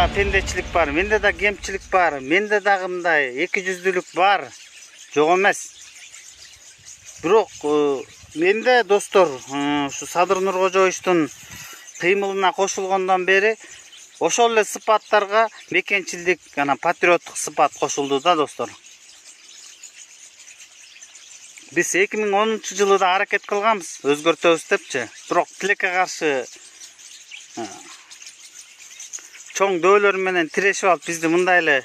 да пендечилик бар, менде да кемчилик бар, менде дагы мындай эки жүздүүлүк бар. Жок эмес. Бирок менде достор, ушу Садыр Нуркожоевичтин кыймылына кошулгондон бери ошол эле сыпаттарга мекенчилдик, патриоттук сыпат кошулду да достор. Биз 2010 да аракет кылганбыз, өзгөртөбүз депчи. Бирок тилекке каршы чоң дөөлөр менен тирешип алып бизди мындай эле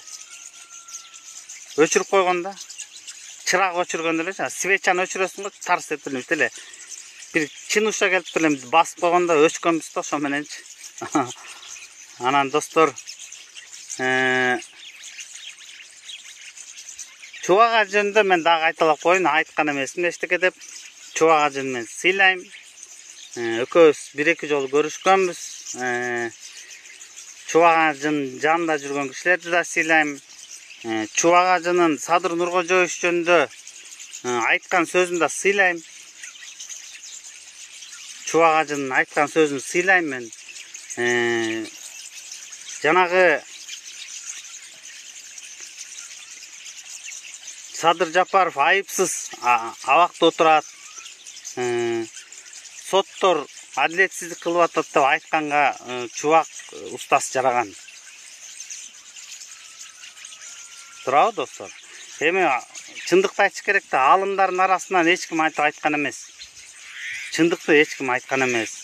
өчүрүп койгон да. Чырак өчүргөн эле, свечаны өчүрөсүң го, тарс этип эле. Бир чын уша келип эле басып койгондо өчкөнбүз да ошо мененчи. Анан достор, Чубак Ажы жөнүндө мен дагы айталап коеюн, айткан эмесмин эчтеке деп. Чубак Ажыны мен сыйлайм. Экөөбүз бир-эки жолу көрүшкөнбүз. Чубак Ажынын жанында жүргөн кишилерди да сыйлайм. Чубак Ажынын Садыр Нуркожоевич жөнүндө айткан сөзүн да сыйлайм. Чубак Ажынын айткан сөзүн сыйлайм мен. Жанагы Садыр Жапаров айыпсыз абакта отурат. Соттор адилетсиздик кылып атат деп айтканга Чубак устаз жараган. Туурабы достор? Эми чындыкты айтыш керек да, алымдардын арасынан эч ким айтып айткан эмес. Чындыкты эч ким айткан эмес.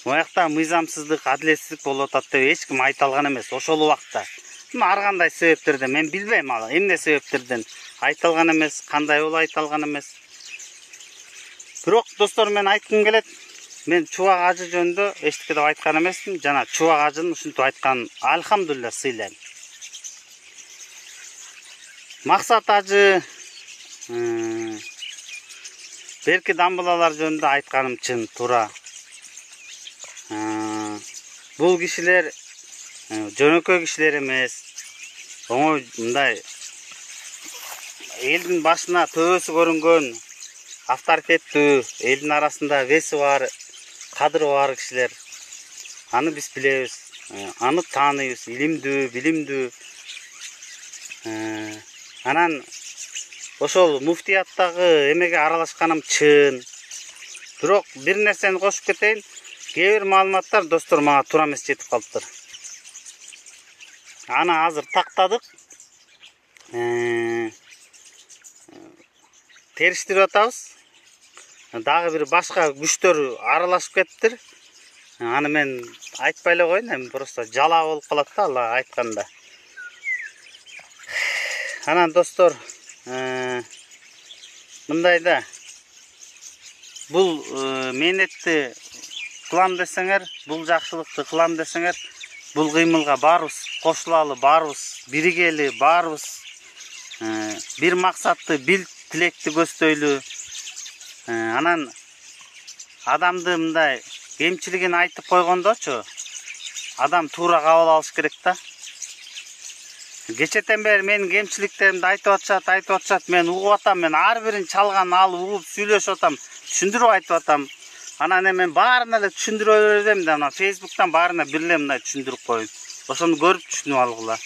Оякта мыйзамсыздык, адилетсиздик болуп атат деп эч ким айта алган эмес ошол убакта. Ар кандай себептерден мен билбейм, эмне себептерден айта алган эмес, кандай болуп айта алган эмес. Бирок достор, мен айткым келет. Мен Чубак Ажы жөнүндө эчтеке деп айткан эмесмин. Жана Чубак Ажынын ушинтип айтканын алхамдулилля сыйлайм. Максат Ажы, берки дамбылалар жөнүндө айтканым чын, туура. Бул кишилер жөнөкөй кишилер эмес. Оңой мындай элдин башына төбөсү көрүнгөн, авторитеттүү, элдин арасында веси бар, кадыры бар кишилер. Аны биз билебиз, аны тааныйбыз, илимдүү, билимдүү. Анан ошол муфтияттагы эмеге аралашканым чын. Бирок бир нерсени кошуп кетейин. Кээ бир маалыматтар достор мага туура эмес жетип калыптыр. Аны азыр тактадык. Териштирип атабыз. Дагы бир башка күчтөр аралашып кетиптир. Аны мен айтпай эле коеюн, эми просто жалаа болуп калат да ала айтканда. Анан достор, мындай да. Бул мээнетти кылам десеңер, бул жакшылыкты кылам десеңер, бул кыймылга баарыбыз кошулалы, баарыбыз биригели, баарыбыз бир максатты, бир тилекти көздөйлү. Анан адамды мындай кемчилигин айтып койгондочу, адам туура кабыл алыш керек да. Кечетен бери менин кемчиликтеримди айтып атышат, мен угуп атам, мен ар бирин чалган алып угуп сүйлөшүп атам, түшүндүрүп айтып атам. Анан мен баарына эле түшүндүрө берем да, ана Facebook'тан баарына бир эле мындай түшүндүрүп коюн. Ошону көрүп түшүнүп алгыла.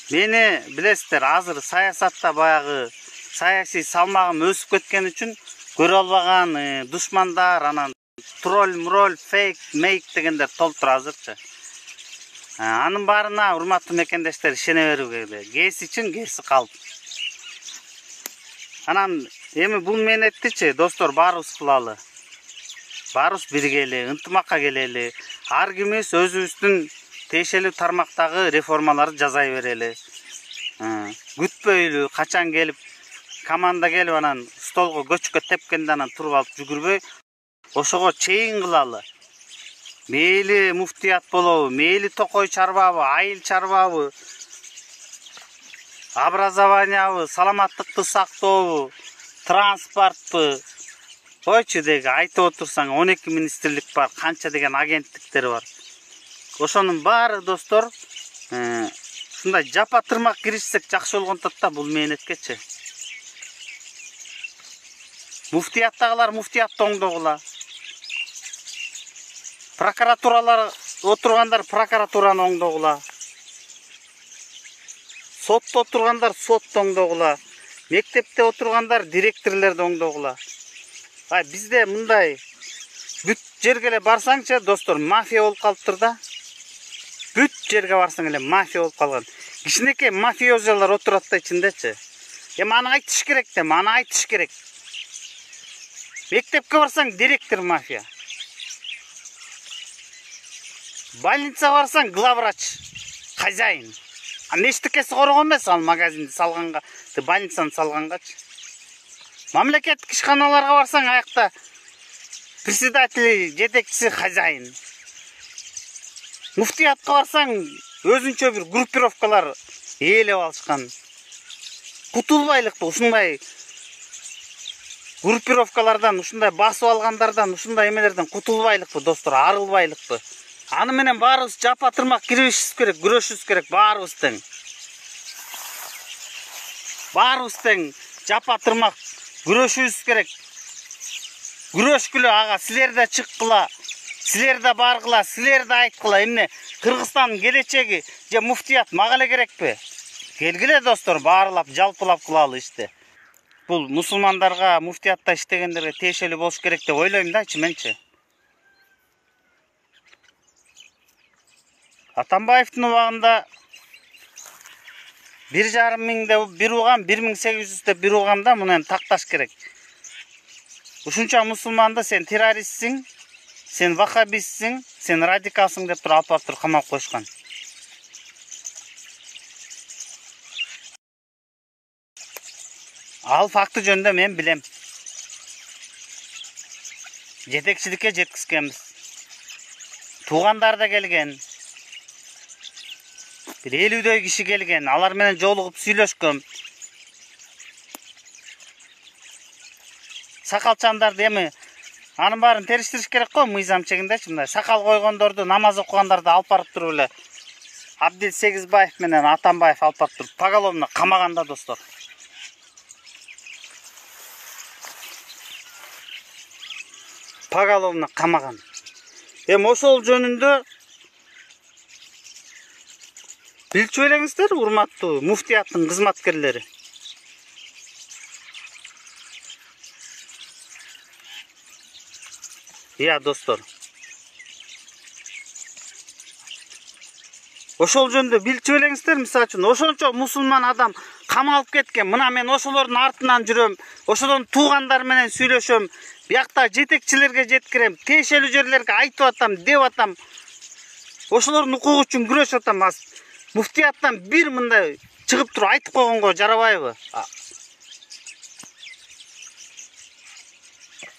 Мени билесиздер, азыр саясатта баягы саясий салмагым өсүп кеткен үчүн көрө албаган душмандар, анан тролль, фейк, мейк дегендер толтур азырчы. Анын баарына урматтуу мекендештер ишене берүү керек. Кээси чын, кээси калп. Анан эми бул мээнеттичи достор баарыбыз кылалы. Баарыбыз биригели, ынтымакка келели. Ар кимибиз өзүбүздүн тиешелүү тармактагы реформаларды жасай берели. Күтпөйлү, качан келип, команда келип анан столго көчкө тепкенде анан туруп алып жүгүрбөй, ошого чейин кылалы. Мейли муфтият болобу, мейли токой чарбабы, айыл чарбабы, образованиябы, саламаттыкты сактообу, транспортпу. Койчу деги айтып отурсаң 12 министрлик бар, канча деген агенттиктер бар. Ошонун баары достор, ушундай жапа тырмак киришсек жакшы болгон да бул мээнеткечи. Муфтияттагылар муфтиятты оңдогула. Прокуратуралар отургандар прокуратураны оңдогула. Сотто отургандар сотто оңдогула. Мектепте отургандар директорлорду оңдогула. Бизде мындай бүт жерге эле барсаңчы, достор, мафия болуп калыптыр да. Бүт жерге барсаң эле мафия болуп калган. Кичинекей мафиозалар отурат да ичиндечи. Аны айтыш керек да, аны айтыш керек. Мектепке барсаң директор мафия. Больницага барсаң главврач, хозяин. Нештикеси коргон эмес ал магазинди салганга, больницаны салгангачы. Мамлекеттик ишканаларга барсаң аякта председатель, жетекчиси, хозяин. Муфтиятка барсаң өзүнчө бир группировкалар ээлеп алышкан. Кутулбайлыкпы ушундай группировкалардан, ушундай басып алгандардан, ушундай эмелерден кутулбайлыкпы, достор, арылбайлыкпы. Аны менен баарыбыз жапа тырмак киришибиз керек, күрөшүбүз керек, баарыбыз тең. Баарыбыз тең жапа тырмак күрөшүбүз керек. Күрөшкүлө ага, силер да чыккыла, силер да баргыла, силер да айткыла. Эмне Кыргызстандын келечеги же муфтият мага эле керекпи? Келгиле, достор, баарлап, жалпылап кылалы ишти. Бул мусулмандарга, муфтиятта иштегендерге тиешелүү болуш керек деп ойлойм дачы менчи. Атамбаевдин убагында 1,5 миңде бир угам, 1800де бир угамда муну такташ керек. Ушунча мусулманды сен террористсиң, сен вахабистсиң, сен радикалсың деп туруп алып барып камап коюшкан. Ал факты жөнүндө мен билем. Жетекчиликке жеткизгенбиз. Туугандар да келген. Бир 50дөй киши келген. Алар менен жолугуп сүйлөшкөм. Сакалчандарды эми анын баарын териштириш керек го, мыйзам чегиндечи, мындай сакал койгондорду, намаз окугандарды алып барып туруп эле Абдил Сегизбаев менен Атамбаев алып барып туруп поголовно камаганда, достор. Поголовно камаган. Эми ошол жөнүндө билчү элеңиздер, урматтуу муфтияттын кызматкерлери. Достор. Ошол жөнүндө билчү элеңиздер, мисалы үчүн, ошончо мусулман адам камалып кеткен. Мына мен ошолордун артынан жүрөм, ошолордун туугандары менен сүйлөшөм, биякта жетекчилерге жеткирем, тиешелүү жерлерге айтып атам, деп атам. Ошолордун укугу үчүн күрөшүп атам. Муфтияттан бир мындай чыгып туруп айтып койгонго жарабайбы?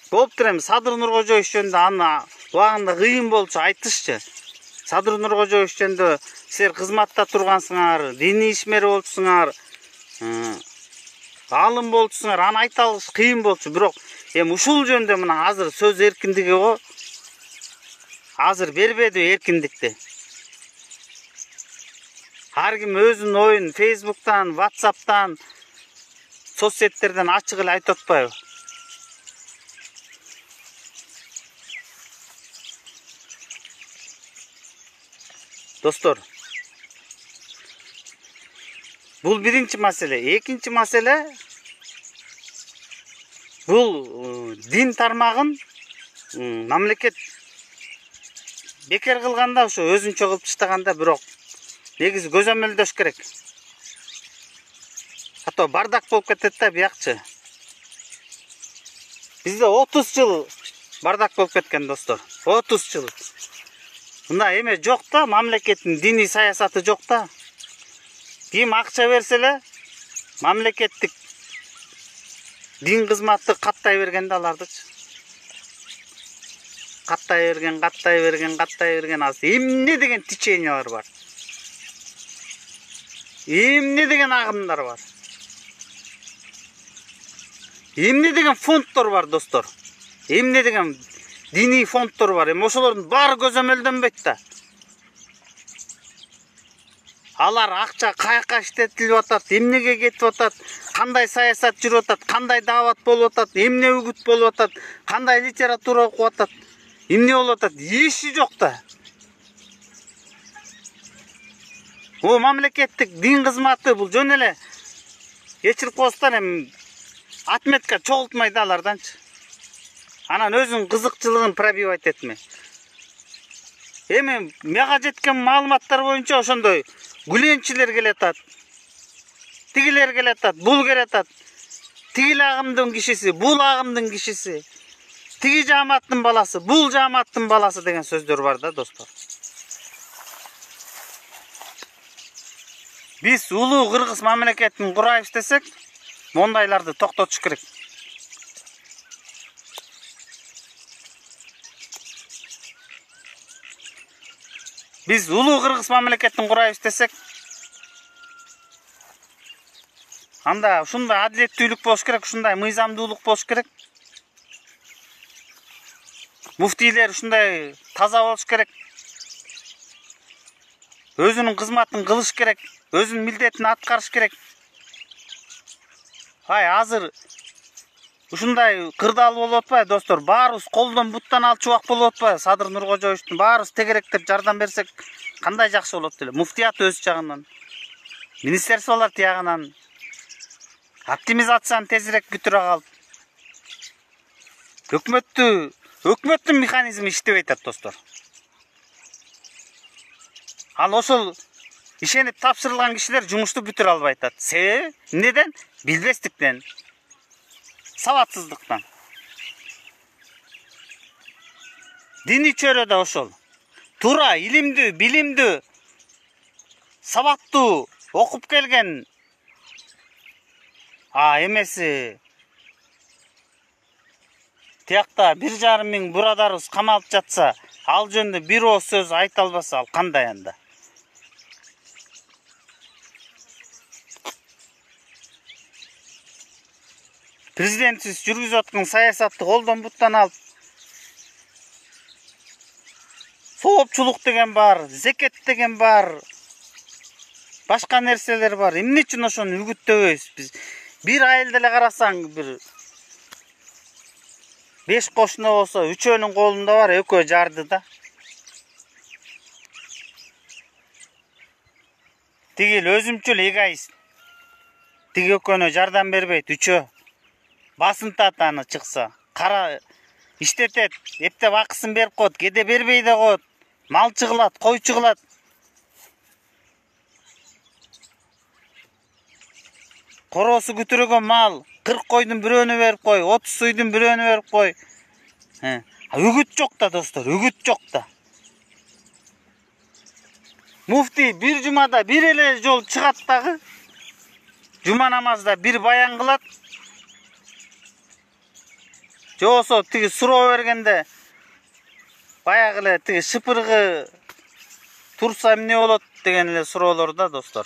Болуптур эми Садыр Нуркожоевич жөнүндө аны убагында кыйын болчу айтышчы. Садыр Нуркожоевич жөнүндө силер кызматта тургансыңар, диний ишмер болчусуңар, алым болчусуңар, аны айта алыш кыйын болчу. Бирок эми ушул жөнүндө мына азыр сөз эркиндиги го. Азыр бербеди эркиндикти. Ар ким өзүнүн оюн Facebook'тан, WhatsApp'тан, соцсеттерден ачык эле айтып атпайбы? Достор, бул биринчи маселе. Экинчи маселе, бул дин тармагын мамлекет бекер кылганда, ошо өзүнчө кылып таштаганда, бирок негизи көзөмөлдөш керек. А то бардак болуп кетет да биякчы. Бизде 30 жыл бардак болуп кеткен, достор. 30 жыл. Мына эме жок да, мамлекеттин диний саясаты жок да. Ким акча берсе эле мамлекеттик дин кызматы каттай берген да алардычы. Каттай берген. Азыр эмне деген течениялар бар. Эмне деген агымдар бар. Эмне деген фонддор бар, достор. Эмне деген диний фонддор бар. Эми ошолордун баары көзөмөлдөнбөйт да. Алар акча каяка иштетилип атат, эмнеге кетип атат, кандай саясат жүрүп атат, кандай даават болуп атат, эмне үгүт болуп атат, кандай литература окуп атат. эмне болуп атат? Иши жок да. Бул мамлекеттик дин кызматы, бул жөн эле кечирип коесуздар, эми отметка чогултмай да аларданчы. Анан өзүнүн кызыкчылыгын пробивать этме. Эми мага жеткен маалыматтар боюнча ошондой гүленчилер келатат. Тигилер келатат, бул келатат. Тигил агымдын кишиси, бул агымдын кишиси. Тиги жааматтын баласы, бул жааматтын баласы деген сөздөр бар да, достор. Биз улуу кыргыз мамлекетин курайбыз десек, мондайларды токтотуш керек. Биз улуу кыргыз мамлекетин курайбыз десек, анда ушундай адилеттүүлүк болуш керек, ушундай мыйзамдуулук болуш керек. Муфтийлер ушундай таза болуш керек. Өзүнүн кызматын кылыш керек, өзүнүн милдетин аткарыш керек. Азыр ушундай кырдаал болуп атпайбы, достор? Баарыбыз колдон буттан ал чубак болуп атпайбы? Садыр Нуркожоевичтин баарыбыз тегеректеп жардам берсек, кандай жакшы болот деле. Муфтият өз жагынан, министерстволор тиягынан оптимизацияны тезирээк бүтүрө калып, өкмөттүн механизми иштебей атат, достор. Ал ошол ишенип тапшырылган кишилер жумушту бүтүрө албай атат. Себеби эмнеден? Билбестиктен, сабатсыздыктан. Диний чөйрө да ошол. Туура, илимдүү, билимдүү, сабаттуу, окуп келген эмеси тиякта 1,5 миң бурадарыбыз камалып жатса, ал жөнүндө бир ооз сөз айта албаса, ал кандай анда? Президентсиз жүргүзүп аткан саясатты колдон буттан алып, соопчулук деген бар, зекет деген бар, башка нерселер бар. Эмне үчүн ошону үгүттөбөйбүз биз? Bir айылда эле карасаң, бир 5 кошуна болсо, 3өөнүн колунда бар, 2өө жарды да. Тигил өзүмчүл эгоист. Тиги 2өөнө жардам бербейт, 3өө. Басынтат аны чыкса, кара иштетет, эптеп акысын берип коет, кеде бербей да коет. Малчы кылат, койчу кылат. Короосу күтүрөгөн мал, 40 койдун бирөөнү берип кой, 30 суйдун бирөөнү берип кой. Үгүт жок да, достор, үгүт жок да. Муфти бир жумада бир эле жол чыгат дагы. Жума намазда бир баян кылат. Же болсо тиги суроо бергенде баягы эле тиги шыпыргы турса эмне болот деген эле суроолор да, достор.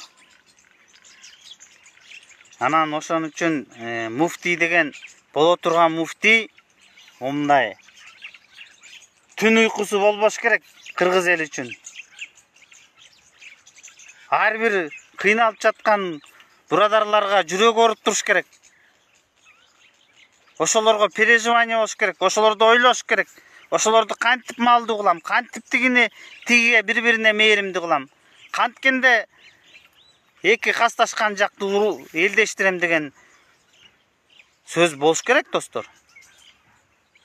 Анан ошон үчүн муфти деген боло турган муфти мындай түн уйкусу болбош керек кыргыз эл үчүн. Ар бир кыйналып жаткан бурадарларга жүрөк ооруп туруш керек. Ошолорго переживание болуш керек, ошолорду ойлош керек. Ошолорду кантип малдуу кылам, кантип тигиге бири-бирине мээримдүү кылам. Канткенде эки касташкан жакты элдештирем деген сөз болуш керек, достор.